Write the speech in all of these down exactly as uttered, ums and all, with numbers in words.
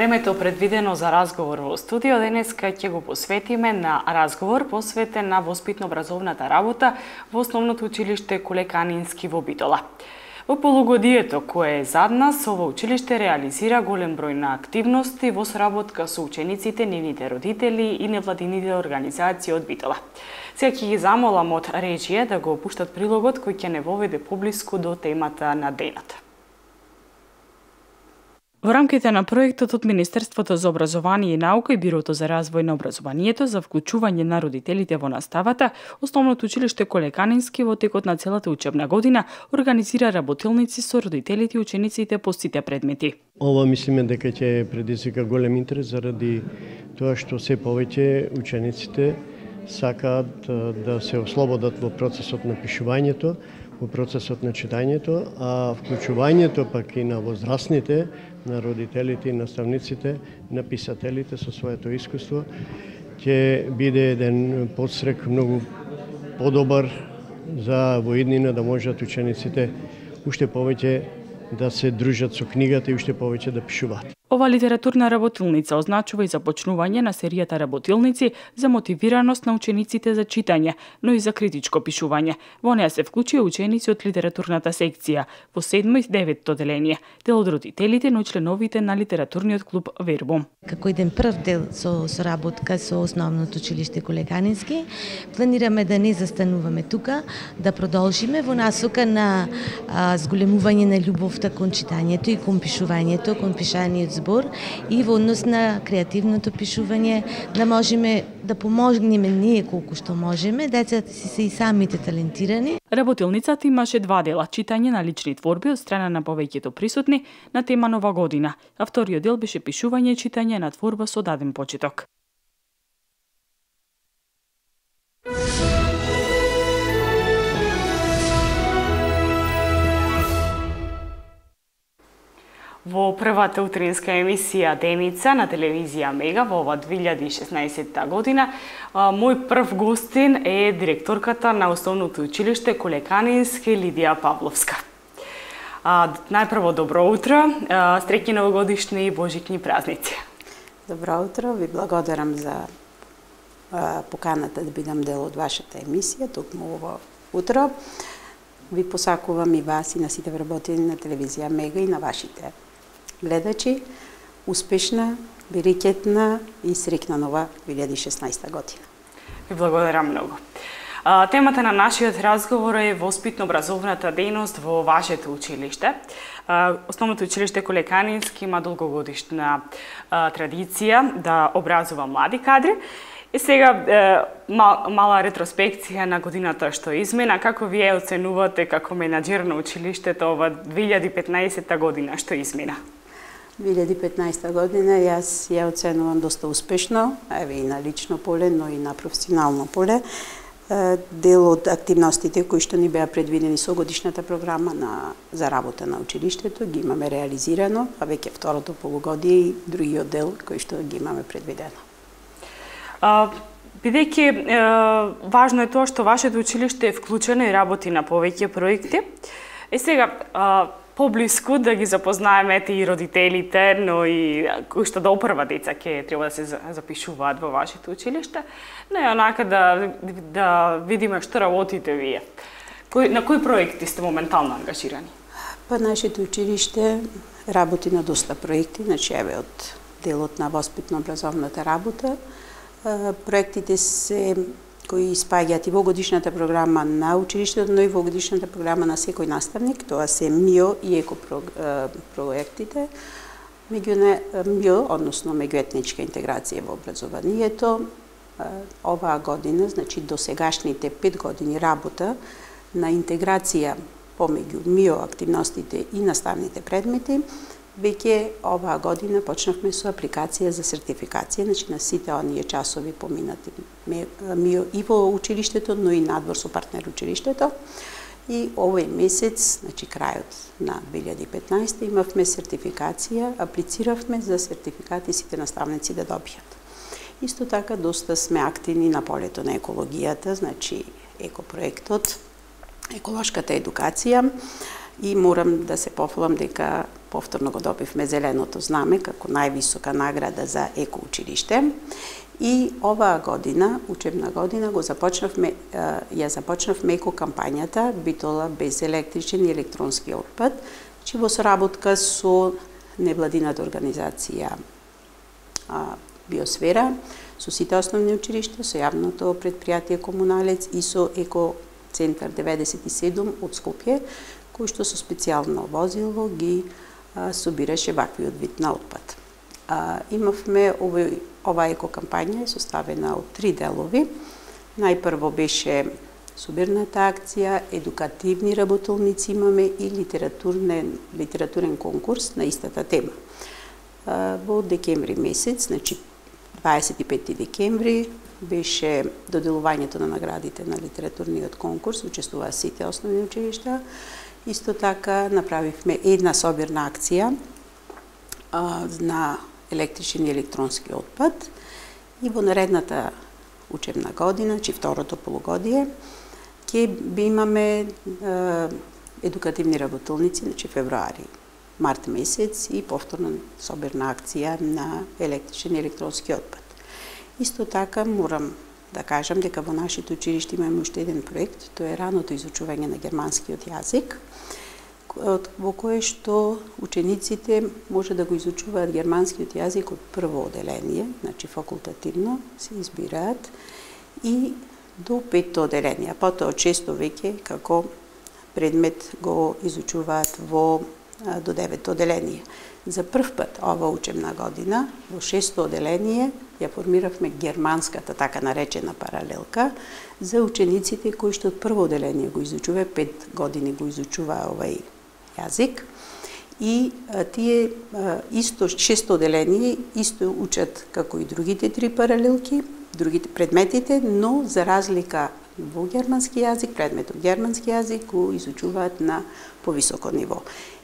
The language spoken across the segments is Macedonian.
Времето предвидено за разговор во студио денеска ќе го посветиме на разговор посветен на воспитно-образовната работа во Основното училиште Коле Канински во Битола. Во полугодието кое е зад нас, ово училиште реализира голем број на активности во соработка со учениците, нивните родители и невладините организации од Битола. Сега ќе ги замолам од режија да го опуштат прилогот кој ќе не воведе поблиску до темата на денот. Во рамките на проектот од Министерството за образование и наука и Бирото за развој на образованието за вклучување на родителите во наставата, Основното училиште Коле Канински во текот на целата учебна година организира работилници со родителите и учениците по сите предмети. Ова мислиме дека ќе предизвика голем интерес заради тоа што се повеќе учениците сакаат да се ослободат во процесот на пишувањето, во процесот на читањето, а вклучувањето пак и на возрастните, на родителите и наставниците, на писателите со своето искуство, ќе биде еден подстрек многу подобар за во иднина да можат учениците уште повеќе да се дружат со книгата и уште повеќе да пишуваат. Ова литературна работилница означува и започнување на серијата работилници за мотивираност на учениците за читање, но и за критичко пишување. Во неа се вклучија ученици од литературната секција во седмо и деветто деление, дел од родителите, но и членовите на литературниот клуб Вербум. Како еден прв дел со соработка со Основното училиште Коле Канински, планираме да не застануваме тука, да продолжиме во насока на а, зголемување на љубовта кон читањето и кон пишувањето, кон пишаниот збор и во однос на креативното пишување, да можеме да помогнеме ние колку што можеме, децата си се и самите талентирани. Работилницата имаше два дела: читање на лични творби од страна на повеќето присутни на тема Нова година, а вториот дел беше пишување и читање на творба со даден почеток. Во првата утринска емисија Деница на телевизија Мега во ова две илјади и шеснаесетта година, мој прв гостин е директорката на Основното училиште Коле Канински Лидија Павловска. Најпрво добро утро, среќни новогодишни и божични празници. Добро утро, ви благодарам за поканата да бидам дел од вашата емисија токму ово утро. Ви посакувам и вас и на сите вработени на телевизија Мега и на вашите гледачи успешна, берекетна и среќна нова две илјади и шеснаесетта година. Ви благодарам многу. А, темата на нашиот разговор е воспитно-образовната дејност во вашето училиште. А, Основното училиште Коле Канински има долгогодишна а, традиција да образува млади кадри. И сега е, мал, мала ретроспекција на годината што измина. Како вие оценувате како менаџер на училиштето ова две илјади и петнаесетта година што измина? две илјади и петнаесетта година јас ја оценувам доста успешно, еве и на лично поле, но и на професионално поле. Дел од активностите кои што ни беа предвидени со годишната програма на, за работа на училиштето ги имаме реализирано, а веќе второто полугодие и другиот дел кој што ги имаме предвидено. Бидејќи важно е тоа што вашето училиште е вклучено и работи на повеќе проекти. Е сега а, поблиску да ги запознаеме и родителите, но и кои што до прва деца ќе треба да се запишуваат во вашето училиште, но и онака да да видиме што работите вие. Кои, на кои проекти сте моментално ангажирани? Па нашето училиште работи на доста проекти, значи еве од делот на воспитно-образовната работа. Проектите се кои спаѓаат и во годишната програма на училиштето, но и во годишната програма на секој наставник, тоа се МИО и ЕКО проектите. МИО, односно меѓуетничка интеграција во образованието, оваа година, значи до сегашните пет години работа на интеграција помеѓу МИО активностите и наставните предмети, веќе оваа година почнавме со апликација за сертификација, значи на сите оние часови поминати МИО и во училиштето, но и надвор со партнер училиштето. И овој месец, значи крајот на две илјади и петнаесетта, имавме сертификација, аплициравме за сертификати сите наставници да добијат. Исто така доста сме активни на полето на екологијата, значи екопроектот, еколошката едукација. и морам да се пофалам дека повторно го добивме зеленото знаме како највисока награда за еко училиште. И оваа година, учебна година, го започнавме, ја започнавме еко кампањата Битола без електричен и електронски отпад, че во соработка со невладината организација Биосфера, со сите основни училишта, со јавното предпријатие Комуналец и со Еко Центар деветдесет и седум од Скопје, кој што со специјално возило ги а, собираше ваквиот вид на отпад. А, имавме овој, ова еко кампања е составена од три делови. Најпрво беше собирната акција, едукативни работолници имаме и литературен, литературен конкурс на истата тема. А, во декември месец, значи дваесет и пети декември, беше доделувањето на наградите на литературниот конкурс, учествуваа сите основни училишта. Исто така направивме една собирна акција а, на електричен и електронски отпад и во наредната учебна година, чи второто полугодие, ќе би имаме а, едукативни работолници, значи февруари, март месец и повторно собирна акција на електричен и електронски отпад. Исто така морам да кажам дека во нашите училишта имаме уште еден проект, тоа е раното изучување на германскиот јазик, во кое што учениците може да го изучуваат германскиот јазик од прво оделение, значи факултативно се избираат, и до петто оделение, а потоа од шесто веќе како предмет го изучуваат во до девето оделение. За прв пат ова учебна година во шесто оделение ја формиравме германската така наречена паралелка за учениците кои што од прво оделение го изучува, пет години го изучува овај јазик, и а, тие а, исто шесто оделение исто учат како и другите три паралелки, другите предметите, но за разлика во германски јазик, предметот германски јазик го изучуваат на повисоко ниво.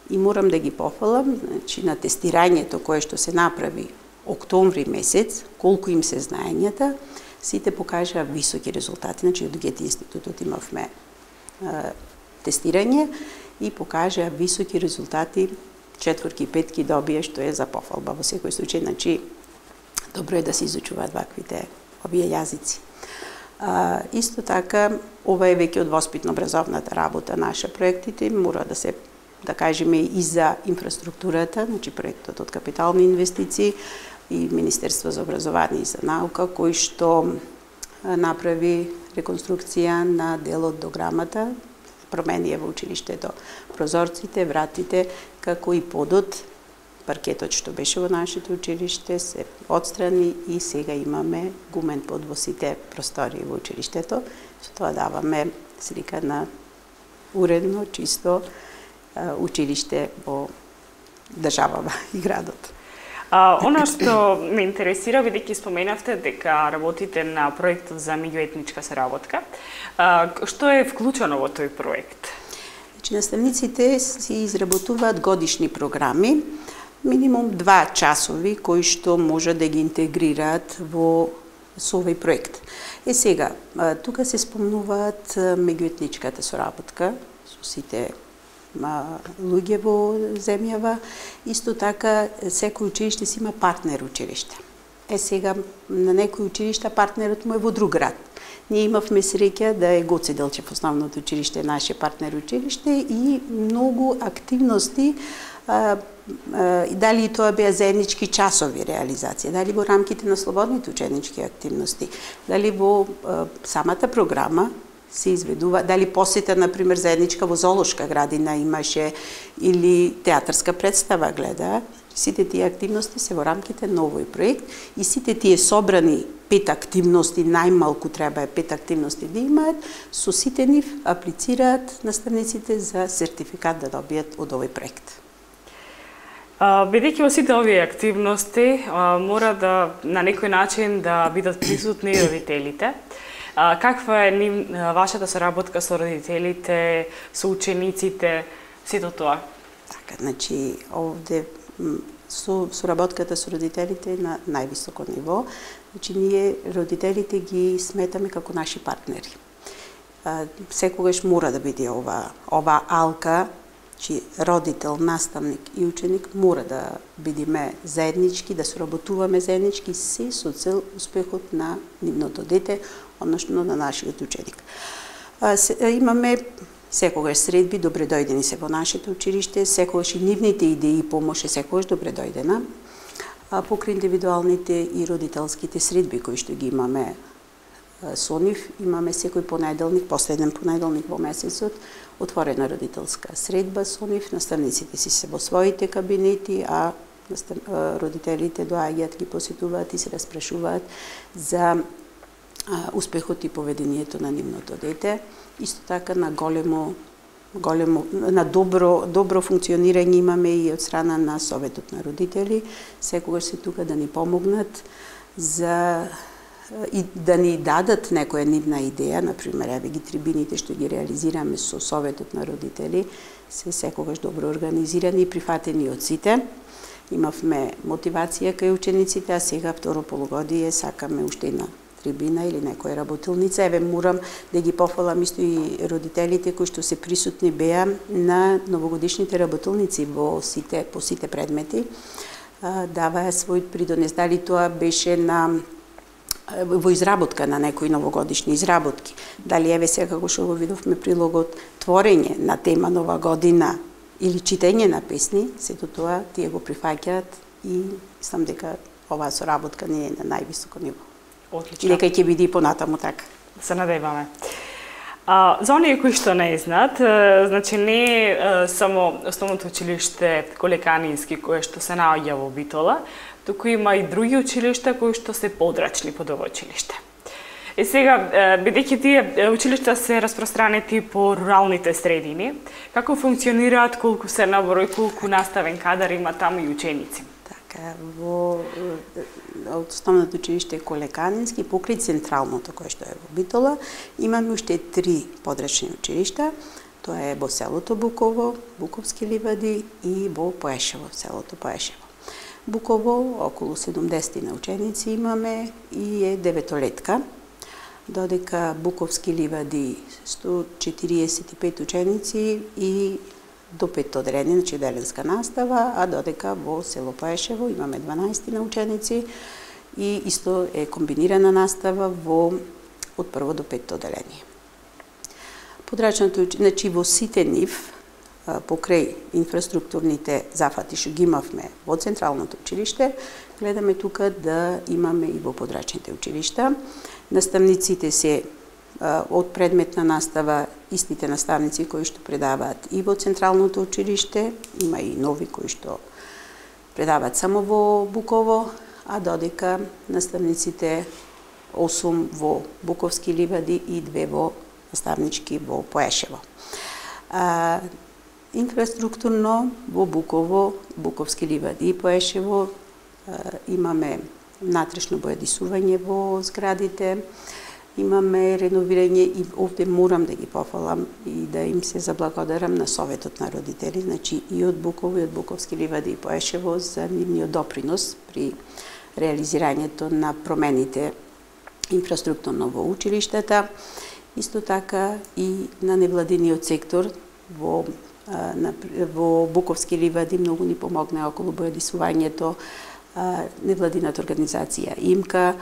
И морам да ги пофалам, значи на тестирањето кое што се направи октомври месец, колку им се знаењата, сите покажаа високи резултати. Значи од Гете институтот имавме е, тестирање и покажаа високи резултати, четворки и петки добија, што е за пофалба во секој случај. Значи добро е да се изучуваат ваквите овие јазици. А, исто така, ова е веќе од воспитно-образовната работа наша проектите, мора да се да кажеме и за инфраструктурата, значи проектот од капитални инвестиции и Министерство за образование и за наука, кој што направи реконструкција на дел од дограмата, промени во училиштето, прозорците, вратите, како и подот, паркетот што беше во нашето училиште се отстрани и сега имаме гумен под во сите простории во училиштето. Со тоа даваме слика на уредно, чисто училиште во државава и градот. А, она што ме интересира, бидејќи споменавте дека работите на проектот за меѓуетничка соработка, а, што е вклучено во тој проект? Значи, наставниците си изработуваат годишни програми, минимум два часови, кои што може да ги интегрираат во со овој проект. Е сега, тука се спомнуваат меѓуетничката соработка со сите луѓе во земјава, исто така секој училиште си има партнер училиште. Е сега на некои училишта партнерот му е во друг град. Ние имавме среќа да е Гоце Делчев основното училиште, наше партнер училиште, и многу активности, а, а, дали и тоа беа заеднички часови реализација, дали во рамките на слободните ученички активности, дали во а, самата програма се изведува, дали посета, например, заедничка во зоолошка градина имаше, или театарска представа гледа. Сите тие активности се во рамките на овој проект и сите тие собрани пет активности, најмалку треба е пет активности да имаат, со сите нив аплицираат наставниците за сертификат да добијат од овој проект. Бидејќи во сите овие активности а, мора да на некој начин да бидат присутни родителите. А, каква е нив, вашата соработка со родителите, со учениците, сето тоа? Така, значи, овде со соработката со родителите е на највисоко ниво. Значи, ние родителите ги сметаме како наши партнери. А, секогаш мора да биде ова, ова алка Чи родител, наставник и ученик мора да бидиме заеднички, да соработуваме заеднички, се со цел успехот на нивното дете, односно на нашиот ученик. А, се, имаме секогаш средби, добре дојдени се во нашето училиште, секогаш и нивните идеи и помош е секогаш добре дојдена. А, покрај индивидуалните и родителските средби кои што ги имаме со нив, имаме секој понеделник, последен понеделник во месецот, отворена родителска средба со нив, наставниците си се во своите кабинети, а родителите доаѓаат, ги посетуваат и се распрашуваат за успехот и поведението на нивното дете. Исто така на големо големо на добро добро функционирање имаме и од страна на Советот на родители, секогаш се тука да ни помогнат за и да ни дадат некоја нивна идеја, например, еве ги трибините што ги реализираме со Советот на родители, се секогаш добро организирани и прифатени од сите. Имавме мотивација кај учениците, а сега второ полугодие сакаме уште една трибина или некоја работилница. Еве морам да ги пофалам исто и родителите кои што се присутни беа на новогодишните работилници во сите по сите предмети. Даваа свој придонес, дали тоа беше на во изработка на некои новогодишни изработки. Дали еве сега како што го видовме прилогот творење на тема Нова година или читање на песни, сето тоа тие го прифаќаат и мислам дека оваа соработка не е на највисоко ниво. Отлично. И дека ќе биде и понатаму така. Се надеваме. А, за оние кои што не знаат, значи не е само основното училиште Колеканински кое што се наоѓа во Битола, туку има и други училишта кои што се подрачни под ова училиште. И сега, бидејќи тие училишта се распространети по руралните средини, како функционираат, колку се на број, колку наставен кадар има таму и ученици? Така, во основното училиште Колеканински, покрај централното кое што е во Битола, имаме уште три подрачни училишта. Тоа е во селото Буково, Буковски ливади и во Поешево, селото Поешево. Буково, околу седумдесет на ученици имаме и е деветолетка, додека Буковски ливади сто четириесет и пет ученици и до пет оделени, значи деленска настава, а додека во село Поешево имаме дванаесет на ученици и исто е комбинирана настава во од прво до пет оделение. Подрачното, значи во сите нив, покрај инфраструктурните зафати што ги имавме во централното училиште, гледаме тука да имаме и во подрачните училишта. Наставниците се од предметна настава истите наставници кои што предаваат и во централното училиште, има и нови кои што предаваат само во Буково, а додека наставниците осум во Буковски ливади и две во наставнички во Поешево. А, инфраструктурно во Буково, Буковски ливади и Поешево имаме внатрешно бојадисување во зградите, имаме реновирање и овде морам да ги пофалам и да им се заблагодарам на Советот на родители, значи и од Буково и од Буковски ливади и Поешево за нивниот допринос при реализирањето на промените инфраструктурно во училиштата, исто така и на невладиниот сектор во на, во Буковски ливади многу ни помогна околу бојадисувањето невладината организација ИМКА.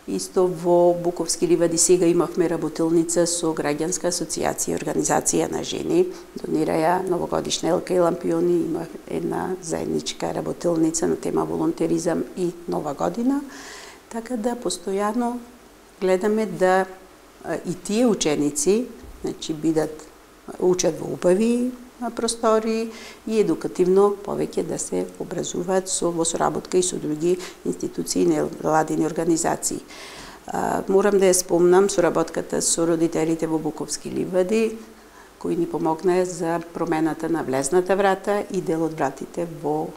Исто во Буковски ливади сега имавме работилница со граѓанска асоциација, организација на жени, донираја новогодишна елка и лампиони, има една заедничка работилница на тема волонтеризам и Нова година, така да постојано гледаме да и тие ученици, значи бидат учат во убави простори и едукативно повеќе да се образуваат со во соработка и со други институции и невладини организации. А, морам да ја спомнам соработката со родителите во Буковски ливади, кои ни помогнаа за промената на влезната врата и дел од вратите во,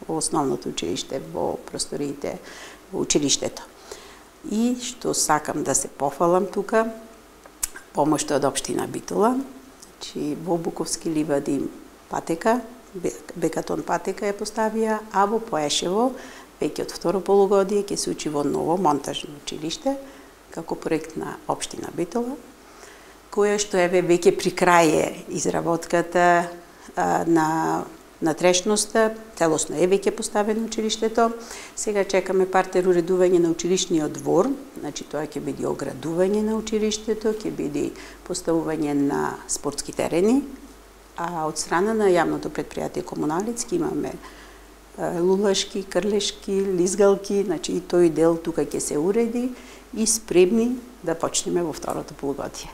во основното училиште, во просториите во училиштето. И што сакам да се пофалам тука, помошта од општина Битола, значи во Буковски ливади патека, бекатон патека ја поставија, а во Поешево веќе од второ полугодие ќе се учи во ново монтажно училиште како проект на општина Битола, која што еве веќе при крај е изработката, а, на натрешноста, целосно е веќе поставено училиштето. Сега чекаме партер уредување на училишниот двор, значи тоа ќе биде оградување на училиштето, ќе биде поставување на спортски терени, а од страна на јавното предпријатие Комуналец имаме лулашки, крлешки, лизгалки, значи и тој дел тука ќе се уреди и спремни да почнеме во второто полугодие.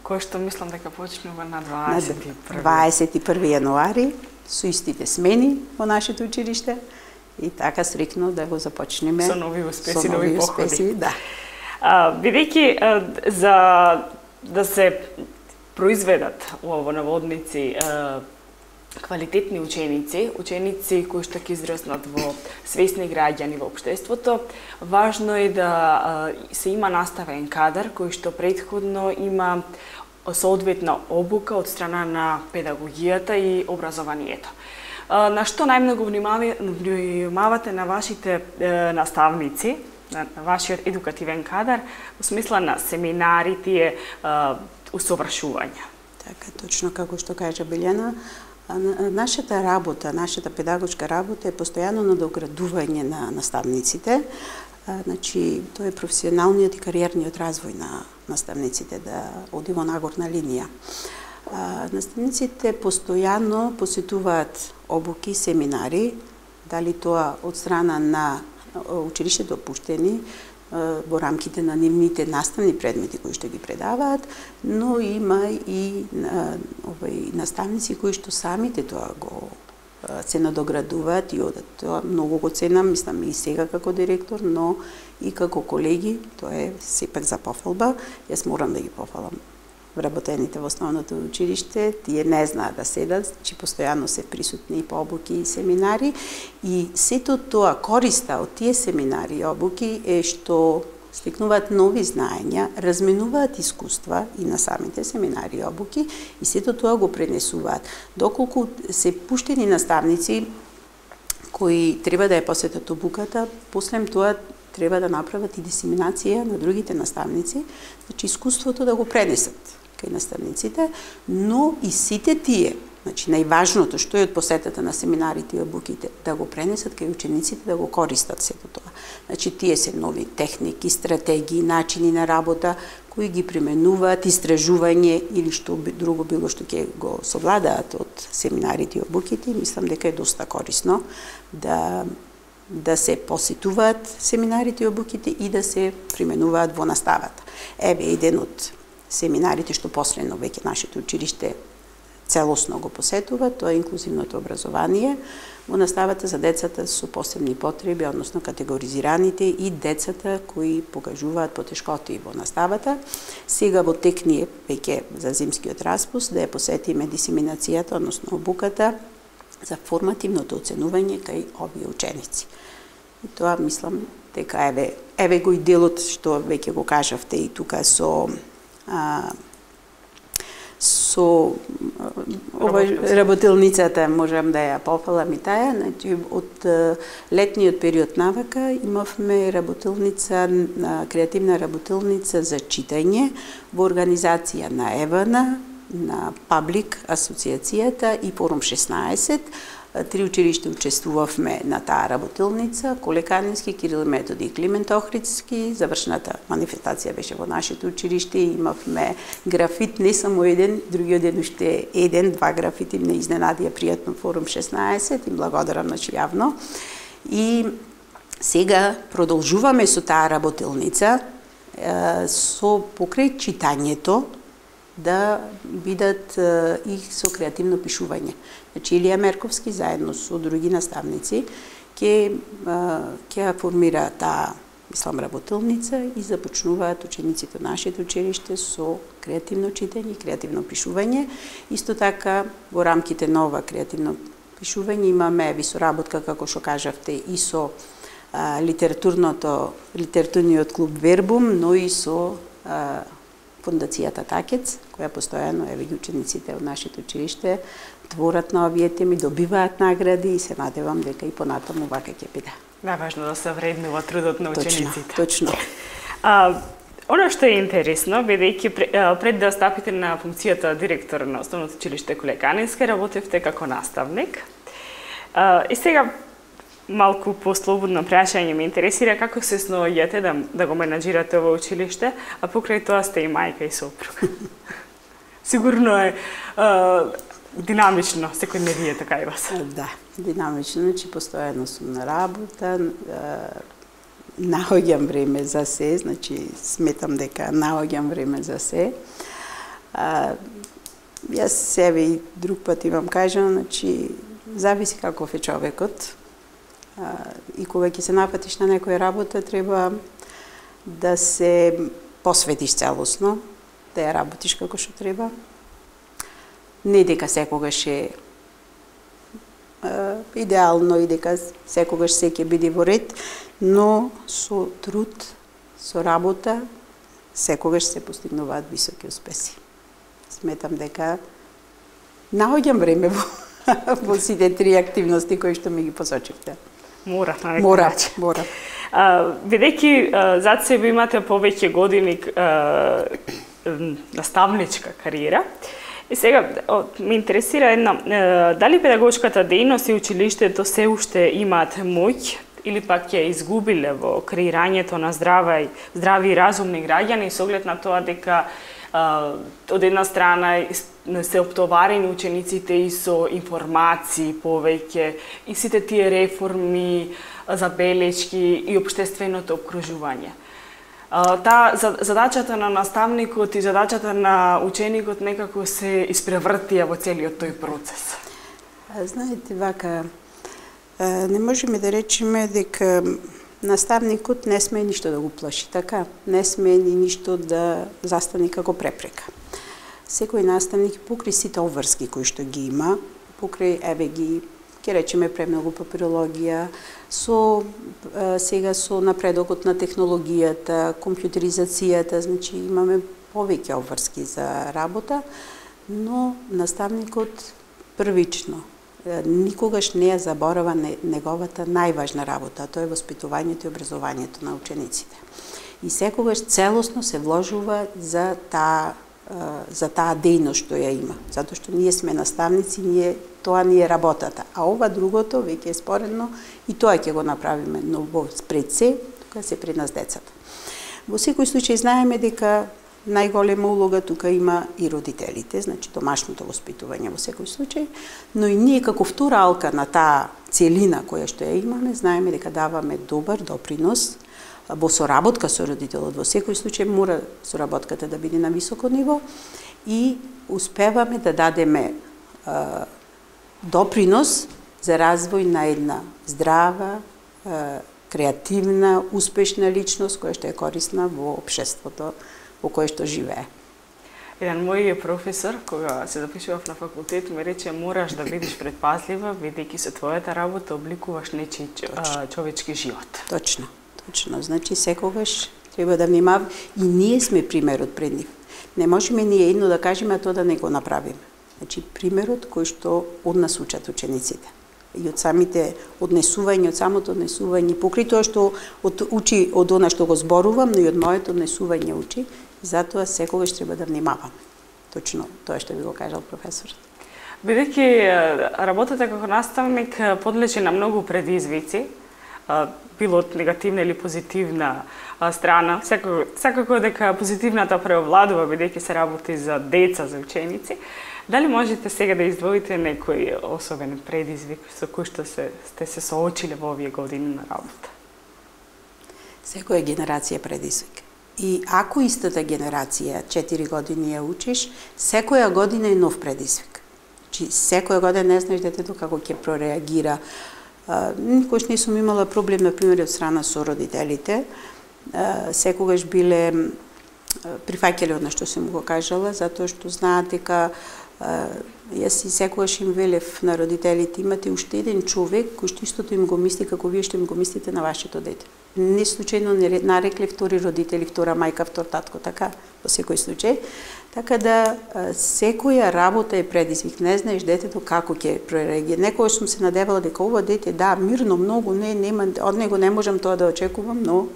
Кој што мислам дека почнува на дваесет и први. дваесет и први јануари, со истите смени во нашето училиште и така срекно да го започнеме со нови успеси, со нови, нови походи. успеси, да. А, бидејќи за да се произведат во наводници квалитетни ученици, ученици кои што ќе израснат во свесни граѓани во општеството, важно е да се има наставен кадар кој што претходно има соодветна обука од страна на педагогијата и образованието. На што најмногу внимавате на вашите наставници, на вашиот едукативен кадар, во смисла на семинари, тие усовршувања? Така, точно како што кажа Билјана, нашата работа, нашата педагошка работа е постојано надоградување на наставниците. Значи, тоа е професионалниот и кариерниот развој на наставниците, да оди во нагорна линија. Наставниците постојано посетуваат обуки, семинари, дали тоа од страна на училиштето пуштени, во рамките на нивните наставни предмети кои што ги предаваат, но има и овај наставници кои што самите тоа го се надоградуваат и одат. Тоа многу го ценам, мислам и сега како директор, но и како колеги, тоа е сепак за пофалба. Јас морам да ги пофалам вработените во основното училиште, тие не знаат да седат, че постојано се присутни и по обуки и семинари, и сето тоа користа од тие семинари и обуки е што стекнуваат нови знаења, разменуваат искуства и на самите семинари и обуки, и сето тоа го пренесуваат. Доколку се пуштени наставници кои треба да ја посетат обуката, после тоа треба да направат и дисеминација на другите наставници, значи искуството да го пренесат кај наставниците, но и сите тие, значи најважното што е од посетата на семинарите и обуките, да го пренесат кај учениците, да го користат сето тоа. Значи тие се нови техники, стратегии, начини на работа кои ги применуваат, истражување или што друго било што ќе го совладаат од семинарите и обуките, мислам дека е доста корисно да да се посетуваат семинарите и обуките и да се применуваат во наставата. Еве еден од семинарите што последно веќе нашето училиште целосно го посетува, тоа е инклузивното образование во наставата за децата со посебни потреби, односно категоризираните и децата кои покажуваат потешкоти во наставата. Сега во тек ни е веќе за зимскиот распуст да ја посетиме дисеминацијата, односно обуката за формативното оценување кај овие ученици. И тоа мислам дека еве еве го и делот што веќе го кажавте и тука со а, со ова работилницата можам да ја пофалам и таа, значи од летниот период навака имавме работилница, креативна работилница за читање во организација на ЕВН, на Паблик асоциацијата и Форум шеснаесет. Три училишта учествувавме на таа работилница, Коле Канински, Кирил Методи и Климент Охридски. Завршната манифестација беше во нашето училиште и имавме графит, не само еден, другиот ден уште еден, два графити ме изненадија пријатно Форум шеснаесет и благодарам значи јавно. И сега продолжуваме со таа работилница со покрај читањето да бидат и со креативно пишување. Значи Илија Мерковски заедно со други наставници ќе ќе формира таа мислам работилница и започнуваат учениците од нашето училиште со креативно читање и креативно пишување. Исто така во рамките на ова креативно пишување имаме ви соработка, како што кажавте, и со а, литературното литературниот клуб Вербум, но и со а, Фондацијата Такец, која постојано еве учениците од нашето училиште творат на овие теми, добиваат награди и се надевам дека и понатаму вака ќе биде. Најважно да се вреднува трудот на учениците. Точно, точно. А, Оно што е интересно, бидејќи пред да стапите на функцијата директор на Основното училиште Коле Канински, работевте како наставник. И сега малку послободно прашање ме интересира како се сноаѓате да, да го менаџирате ова училиште, а покрај тоа сте и мајка и сопруг. Сигурно е а, динамично, секој не вие така и вас. Да, динамично, значи постојано сум на работа, наоѓам време за се, значи сметам дека наоѓам време за се. А, јас себе и друг пат имам кажано, значи зависи каков е човекот. А, и кога ќе се напатиш на некоја работа, треба да се посветиш целосно, да ја работиш како што треба. Не дека секогаш е Uh, идеално и дека секогаш се ќе биде во ред, но со труд, со работа, секогаш се постигнуваат високи успеси. Сметам дека наоѓам време во, во сите три активности кои што ми ги посочивте. Мора, на некој Мора, начин. мора. Uh, Бидејќи uh, зад себе имате повеќе години uh, наставничка кариера, и сега ме интересира едно, дали педагошката дејност и училиштето се уште имаат моќ или пак ја изгубиле во креирањето на здрави, здрави и разумни граѓани со оглед на тоа дека а, од една страна се оптоварени учениците и со информации повеќе и сите тие реформи, забелешки и општественото обкружување. Таа задачата на наставникот и задачата на ученикот некако се испревртија во целиот тој процес. Знаете, вака, не можеме да речеме дека наставникот не смее ништо да го плаши, така? Не смее ни ништо да застане како препрека. Секој наставник покрај сите обврски кои што ги има, покрај еве ги ќе речеме премногу папирологија, со сега со напредокот на технологијата, компјутеризацијата, значи имаме повеќе обврски за работа, но наставникот првично никогаш не ја заборава неговата најважна работа, а тоа е воспитувањето и образованието на учениците. И секогаш целосно се вложува за таа за таа дејност што ја има, затоа што ние сме наставници, ние тоа ни е работата, а ова другото веќе е споредно и тоа ќе го направиме, но во пред се, тука се пред нас децата. Во секој случај знаеме дека најголема улога тука има и родителите, значи домашното воспитување во секој случај, но и ние како втора алка на таа целина која што ја имаме, знаеме дека даваме добар допринос во соработка со родителот. Во секој случај мора соработката да биде на високо ниво и успеваме да дадеме а, допринос за развој на една здрава, а, креативна, успешна личност која што е корисна во општеството во кое што живее. Еден мој професор, кога се запишував на факултет, ме рече мораш да бидеш предпазлива, бидејќи со твојата работа обликуваш нечи човечки живот. Точно. Точно, значи секогаш треба да внимаваме и ние сме примерот пред нив. Не можеме ние едно да кажеме, а тоа да не го направиме. Значи примерот кој што од нас учат учениците. И од самите однесување, од самото однесување, покрај тоа што од, учи од она што го зборувам, но и од моето однесување учи, затоа секогаш треба да внимаваме. Точно тоа што ви го кажал професорот. Бидејќи работата како наставник подлежи на многу предизвици, било од негативна или позитивна страна, секако, секако дека позитивната преовладува, бидејќи се работи за деца, за ученици. Дали можете сега да издвоите некој особен предизвик со кој што се, сте се соочиле во овие години на работа? Секоја генерација предизвик. И ако истата генерација четири години ја учиш, секоја година е нов предизвик. Значи, секоја година не знаеш детето како ќе прореагира. Никош не сум имала проблем, например, од страна со родителите. Секогаш биле прифаќале од што сум го кажала, затоа што знаат дека јас и секогаш им велев на родителите, имате уште еден човек кој што истото им го мисли како вие што им го мислите на вашето дете. Не случајно не нарекле втори родители, втора мајка, втор татко, така, во секој случај. Така да, секоја работа е предизвик. Не знаеш детето како ќе прореагира. Некогаш сум се надевала дека ова дете, да, мирно, многу, не, нема, од него не можам тоа да очекувам, но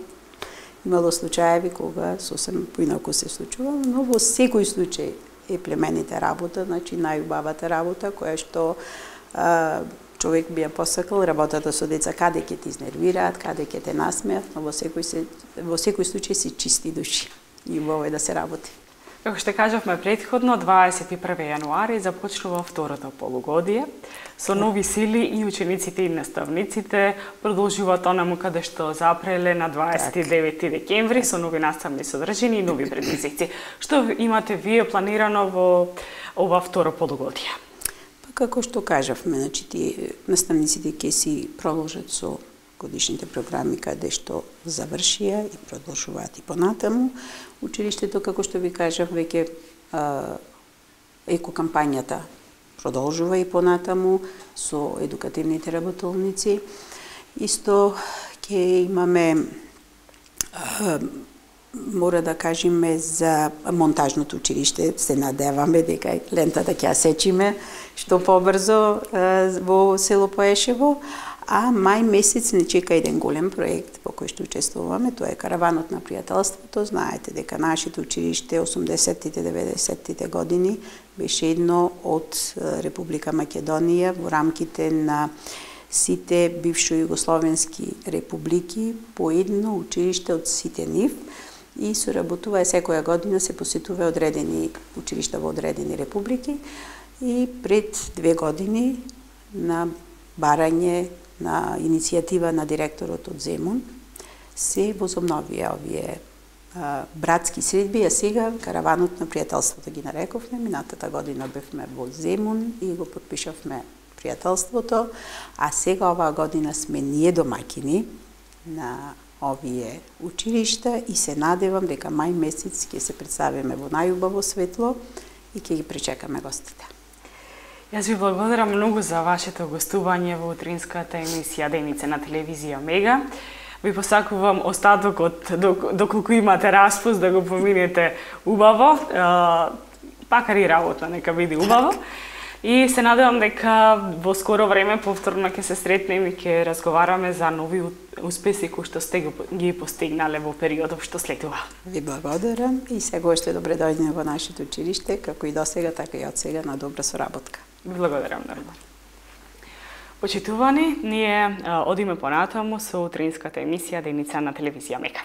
Имало случаеви кога сосем поинаку се случувало, но во секој случај е племенита работа, значи најубавата работа, која што а, човек би ја посакал, работата со деца, каде ќе ти изнервираат, каде ќе те насмеат, но во секој, се, во секој случај се чисти души и убаво е да се работи. Како што кажавме претходно, дваесет и први јануари започнува второто полугодие. Со нови сили и учениците и наставниците продолжуваат онаму каде што запреле на дваесет и девети декември со нови наставни содржини и нови предизвици. Што имате вие планирано во ова второ полугодие? Па како што кажавме, значи ти наставниците ќе си продолжат со годишните програми каде што завршија и продолжуваат и понатаму. Училиштето, како што ви кажав, веќе екокампањата продолжува и понатаму со едукативните работолници. Исто ќе имаме, а, мора да кажеме за монтажното училиште, се надеваме дека лентата ќе ја сечиме што побрзо а, во село Поешево. А мај месец не чека еден голем проект во кој што учествуваме, тоа е Караванот на пријателството. Знаете дека нашето училиште осумдесеттите, деветдесеттите години беше едно од Република Македонија во рамките на сите бившо југословенски републики по едно училиште од сите нив и соработува секоја година, се посетува одредени училишта во одредени републики и пред две години на барање на иницијатива на директорот од Земун се возобновија овие а, братски средби, а сега Караванот на пријателството ги нарековме. Минатата година бевме во Земун и го подпишавме пријателството, а сега оваа година сме ние домаќини на овие училишта и се надевам дека мај месец ќе се представиме во најубаво светло и ќе ги пречекаме гостите. Јас ви благодарам многу за вашето гостување во утринската емисија Деница на телевизија Мега. Ви посакувам остатокот, доколку имате распуст, да го поминете убаво, пакар и работа, нека биде убаво. И се надевам дека во скоро време повторно ќе се сретнеме и ќе разговараме за нови успеси кои што сте ги постигнале во периодот што следува. Ви благодарам и сега што добре дојдеме во нашето училиште, како и досега, така и од сега на добра соработка. Ви благодарам многу. Почитувани, ние одиме понатаму со утринската емисија Деница на телевизија Мега.